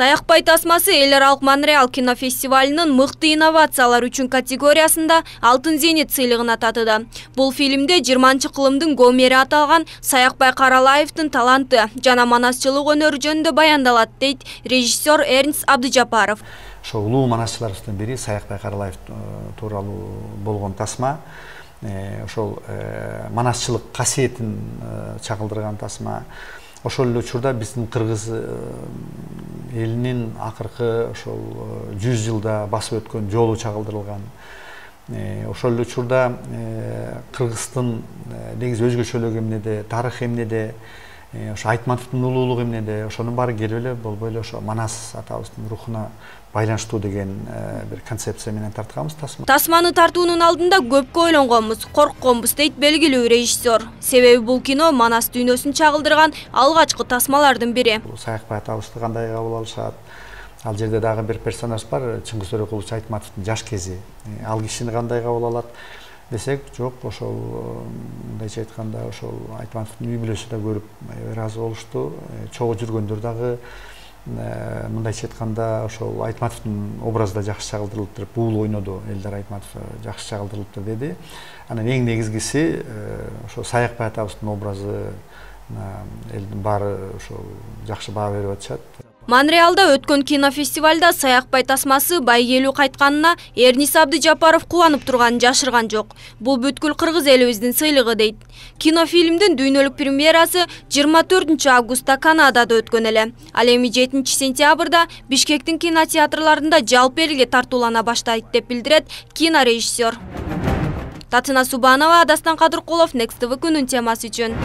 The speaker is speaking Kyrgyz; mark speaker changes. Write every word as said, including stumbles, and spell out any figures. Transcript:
Speaker 1: Саякбай тасмасы эл аралык Монреаль кинофестивалынын мыкты инновациялар үчүн категориясында алтын зенит сыйлыгына татыды. Бул фильмде жыйырманчы кылымдын Гомери аталган Саякбай Каралаевдин таланты жана манасчылык өнөрү жөнүндө баяндалат, дейт режиссер Эрнст Абдыжапаров.
Speaker 2: Ошо улуу манасчыларыбыздын бири Саякбай Каралаев тууралуу болгон тасма. Ошол манасчылык касиетин чагылдырган тасма. Ошол эле учурда биздин кыргыз элинин акыркы ошол жүз жылда басып өткөн жолу чагылдырылган. Ошол эле учурда Кыргыздын негизи өзгөчөлүгү эмнеде, тарыхы эмнеде, ошо Айтматовдун улуулугу эмнеде, ошонун баары келип эле болбой эле ошо Манас атабыздын рухуна байланыштуу деген бир концепция менен тартканбыз тасма.
Speaker 1: Тасманы тартуунун алдында көпкө ойлонгонбуз, коркконбуз, дейт белгилүү режиссер. Себеби бул кино Манас дүйнөсүн чагылдырган алгачкы тасмалардын бири.
Speaker 2: Саякбай атабызды кандай кабыл алышат? Ал жерде дагы бир персонаж бар, Чыңгыз Төрөкулович Айтматовдун жаш кези. Ал кишини кандай кабыл алат десек, жок, ошол мындайча айтканда ошол Айтматовдун үй бүлөсү да көрүп ыраазы болушту. Чогуу жүргөндөр дагы мындайча айтканда ошол Айтматовдун образы да жакшы чагылдырылыптыр. Бул ойноду, Элдар Айтматов жакшы чагылдырылыптыр деди. Анан эң негизгиси ошо Саякбай атабыздын образы элдин баары ошол жакшы баа берип атышат.
Speaker 1: Монреалда өткөн кинофестивалда Саякбай тасмасы байгелүү кайтканына Эрнст Абдыжапаров кубанып турганын жашырган жок. Бул бүткүл кыргыз элибиздин сыйлыгы, дейт. Кинофильмдин дүйнөлүк премьерасы жыйырма төртүнчү августта Канадада өткөн эле. Ал эми жетинчи сентябрда Бишкектин кинотеатрларында жалпы элге тартуулана баштайт, деп билдирет кинорежиссер. Татына Субанова, Дастан Кадыркулов, Next тэ вэ күнүн темасы үчүн.